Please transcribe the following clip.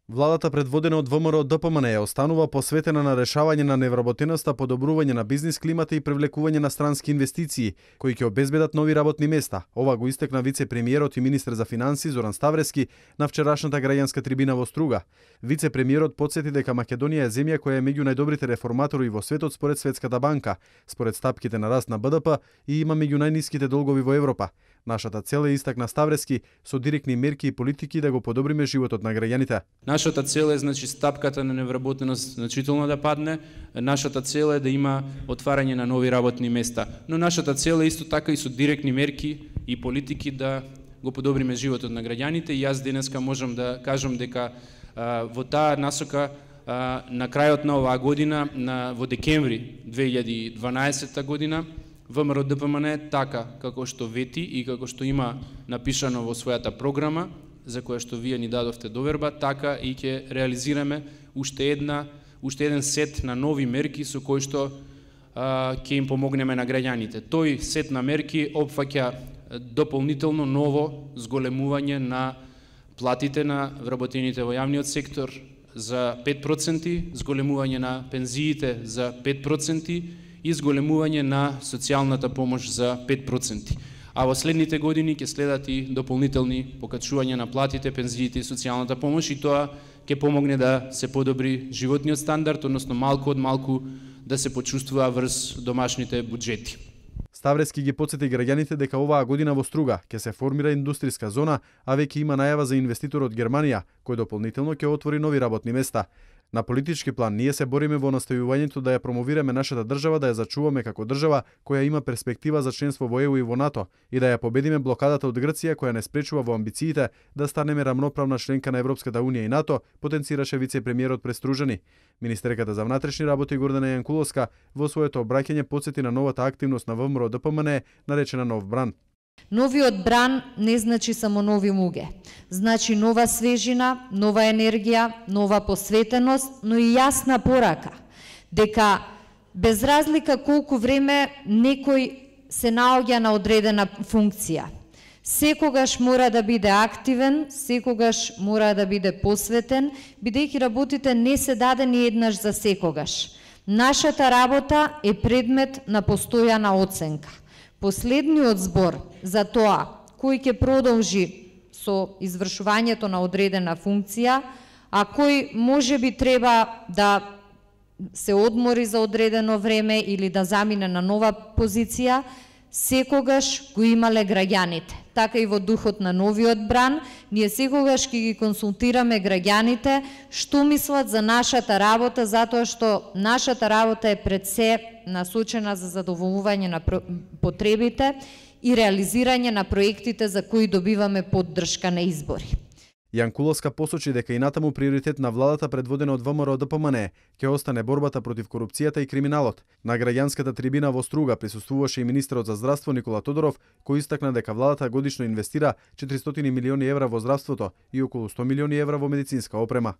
Владата предводена од ВМРО ДПМН останува посветена на решавање на невработеноста, подобрување на бизнис климата и привлекување на странски инвестиции, кои ќе обезбедат нови работни места. Ова го истакна вице-премиерот и министер за финансии Зоран Ставрески на вчерашната граѓанска трибина во Струга. Вице-премиерот потсети дека Македонија е земја која е меѓу најдобрите реформатори во светот според Светската банка, според стапките на раст на БДП и има меѓу најниските долгови во Европа. Нашата цел е, истакна Ставрески, со директни мерки и политики да го подобриме животот на граѓаните. Нашата цел е стапката на невработеност значително да падне. Нашата цел е да има отварање на нови работни места. Но нашата цел е исто така и со директни мерки и политики да го подобриме животот на граѓаните. И јас денеска можам да кажам дека во таа насока на крајот на оваа година, во декември 2012 година, ВМРО ДПМН така како што вети и како што има напишано во својата програма, за која што вие ни дадовте доверба, така и ќе реализираме уште еден сет на нови мерки со кои што ќе им помогнеме на граѓаните. Тој сет на мерки опфаќа дополнително ново зголемување на платите на вработените во јавниот сектор за 5%, зголемување на пензиите за 5% и зголемување на социјалната помош за 5%. А во следните години ќе следат и дополнителни покачувања на платите, пензиите и социјалната помош, и тоа ќе помогне да се подобри животниот стандард, односно малку од малку да се почувствува врз домашните буџети. Ставрески ги потсети граѓаните дека оваа година во Струга ќе се формира индустријска зона, а веќе има најава за инвеститор од Германија, кој дополнително ќе отвори нови работни места. На политички план ние се бориме во настојувањето да ја промовираме нашата држава, да ја зачуваме како држава која има перспектива за членство во ЕУ и во НАТО и да ја победиме блокадата од Грција која не спречува во амбициите да станеме рамноправна членка на Европската унија и НАТО, потенцираше вице-премиерот пред Стружани. Министерката за внатрешни работи Гордана Јанкуловска во своето обраќање потсети на новата активност на ВМРО ДПМН наречена Нов бран. Новиот бран не значи само нови муге. Значи нова свежина, нова енергија, нова посветеност, но и јасна порака дека без разлика колку време некој се наоѓа на одредена функција, секогаш мора да биде активен, секогаш мора да биде посветен, бидејќи работите не се дадени еднаш за секогаш. Нашата работа е предмет на постојана оценка. Последниот збор за тоа кој ќе продолжи со извршувањето на одредена функција, а кој можеби треба да се одмори за одредено време или да замине на нова позиција, секогаш го имале граѓаните. Така и во духот на новиот бран, ние секогаш ќе ги консултираме граѓаните што мислат за нашата работа, затоа што нашата работа е пред се насочена за задоволување на потребите и реализирање на проектите за кои добиваме поддршка на избори. Јанкуловска посочи дека и натаму приоритет на владата предводена од ВМРО ДПМН ќе остане борбата против корупцијата и криминалот. На граѓанската трибина во Струга присуствуваше и министерот за здравство Никола Тодоров, кој истакна дека владата годишно инвестира 400 милиони евра во здравството и околу 100 милиони евра во медицинска опрема.